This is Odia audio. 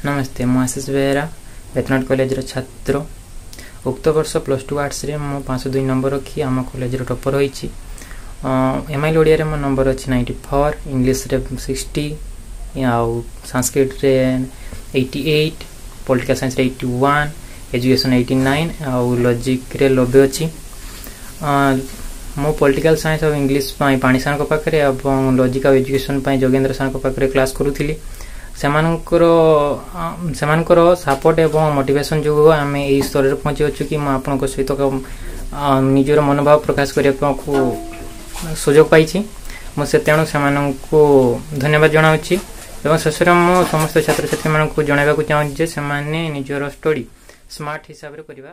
ନମସ୍ତେ, ମୁଁ ଆଶିଷ ବେହେରା, ବେତନଟ କଲେଜର ଛାତ୍ର। ଉକ୍ତ ବର୍ଷ +2 ଆର୍ଟ୍ସରେ ମୁଁ 502 ନମ୍ବର ରଖି ଆମ କଲେଜର ଟପର ହୋଇଛି। ଏମ୍ଆଇଏଲ୍ ଓଡ଼ିଆରେ ମୋ ନମ୍ବର ଅଛି 94, ଇଂଲିଶରେ 60, ଆଉ ସାଂସ୍କ୍ରିଟରେ 88, ପଲିଟିକାଲ ସାଇନ୍ସରେ 81, ଏଜୁକେସନ୍ 89 ଆଉ ଲଜିକ୍ରେ 90 ଅଛି। ମୁଁ ପଲିଟିକାଲ ସାଇନ୍ସ ଆଉ ଇଂଲିଶ ପାଇଁ ପାଣି ସାର୍ଙ୍କ ପାଖରେ ଏବଂ ଲଜିକ୍ ଆଉ ଏଜୁକେସନ୍ ପାଇଁ ଯୋଗେନ୍ଦ୍ର ସାର୍ଙ୍କ ପାଖରେ କ୍ଲାସ୍ କରୁଥିଲି। ସେମାନଙ୍କର ସେମାନଙ୍କର ସପୋର୍ଟ ଏବଂ ମୋଟିଭେସନ୍ ଯୋଗୁଁ ଆମେ ଏଇ ସ୍ତରରେ ପହଞ୍ଚିଅଛୁ କି ମୁଁ ଆପଣଙ୍କ ସହିତ ନିଜର ମନୋଭାବ ପ୍ରକାଶ କରିବାକୁ ସୁଯୋଗ ପାଇଛି। ମୁଁ ସେ ତେଣୁ ସେମାନଙ୍କୁ ଧନ୍ୟବାଦ ଜଣାଉଛି ଏବଂ ଶେଷରେ ମୁଁ ସମସ୍ତ ଛାତ୍ରଛାତ୍ରୀମାନଙ୍କୁ ଜଣାଇବାକୁ ଚାହୁଁଛି ଯେ ସେମାନେ ନିଜର ଷ୍ଟଡି ସ୍ମାର୍ଟ ହିସାବରେ କରିବା।